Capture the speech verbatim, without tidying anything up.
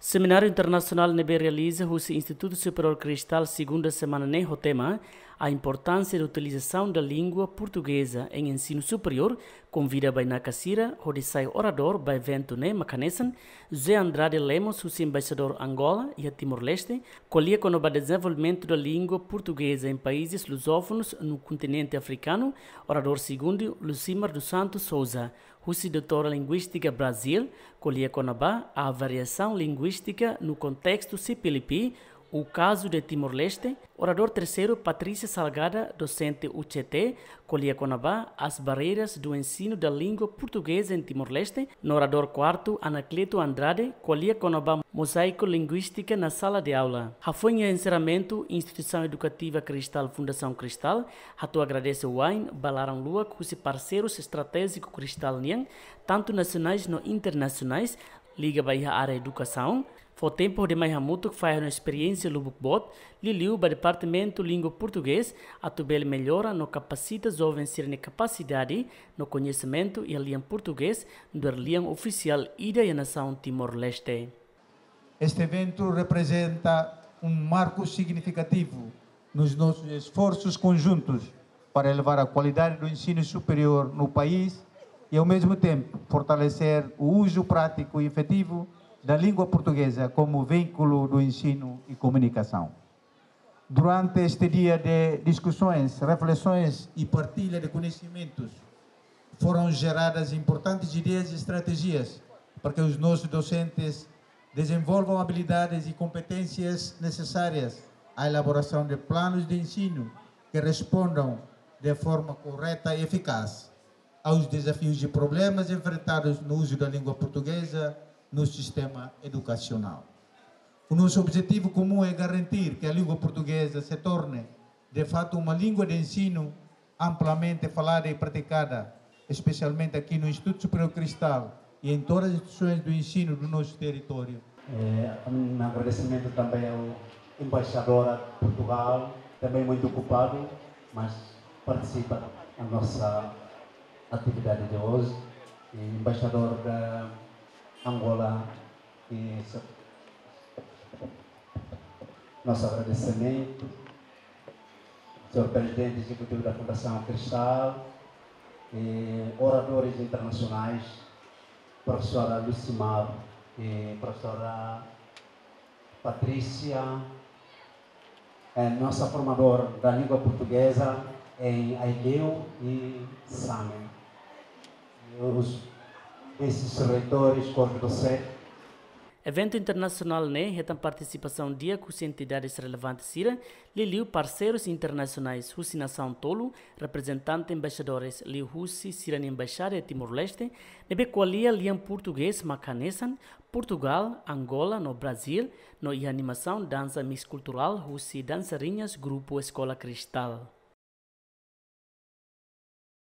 Semináriu internasionál ne'ebé realiza husi Institutu Superiór Cristal segunda semana ne'e ho tema A importância da utilização da língua portuguesa em ensino superior, konvida bainaka sira hodi sai oradór ba eventu ne'e mak hanesan José Andrade Lemos husi Embaixadór Angola iha Timor-Leste, ko'alia kona-ba dezenvolvimentu da língua portuguesa em países lusófonos no continente africano, oradór segundu Lucimar dos Santos Souza, husi Doutora Linguístika Brazil, ko'alia kona-ba a variação linguística no contexto C P L P, o caso de Timor-Leste, oradór terseiru Patrícia Salgada, dosente U C T, ko'alia kona-ba as barreiras do ensino da língua portuguesa em Timor-Leste, no oradór kuartu Anacleto Andrade, ko'alia kona-ba mozaíku linguístika na sala de aula. Hafoin enserramentu, Instituisaun Edukativa Cristal Fundasaun Cristal hato'o agradese wa'in ba laran-luak husi parseirus estratéjiku Cristal nian, tantu nasionais no internasionais, liga ba iha área edukasaun, fó tempu hodi mai hamutuk fahe no esperiénsia lubuk boot, liuliu ba Departamentu Língua Portugés, atu bele mellora no kapasita joven sira-nia kapasidade no koñesimentu iha lian portugés, nu'udar lian ofisiál ida iha nasaun Timor-Leste. Este evento representa um marco significativo nos nossos esforços conjuntos para elevar a qualidade do ensino superior no país e, ao mesmo tempo, fortalecer o uso prático e efetivo da língua portuguesa como veículo do ensino e comunicação. Durante este dia de discussões, reflexões e partilha de conhecimentos, foram geradas importantes ideias e estratégias para que os nossos docentes desenvolvam habilidades e competências necessárias à elaboração de planos de ensino que respondam de forma correta e eficaz aos desafios e problemas enfrentados no uso da língua portuguesa no sistema educacional. O nosso objetivo comum é garantir que a língua portuguesa se torne, de fato, uma língua de ensino amplamente falada e praticada, especialmente aqui no Instituto Superior Cristal e em todas as instituições do ensino do nosso território. É, um agradecimento também ao embaixador de Portugal, também muito ocupado, mas participa da nossa atividade de hoje. E embaixador da Angola, e se-, nosso agradecimento, senhor Presidente Executivo da Fundação Cristal, e oradores internacionais, professora Lucimar e professora Patrícia, é nossa formadora da língua portuguesa em Aileu e Same. E os, esses reitores, corpo docente. Eventu internasionál ne'e hetan partisipasaun di'ak husi entidades relevantes sira, liuliu parseirus internasionais husi nasaun tolu, reprezentante embaixadores liuhusi sira-nia embaixada iha Timor-Leste, ne'ebé ko'alia lian portugés mak hanesan, Portugal, Angola no Brazil, no iha animasaun dansa mix kulturál husi dansariñas grupu Eskola Cristal.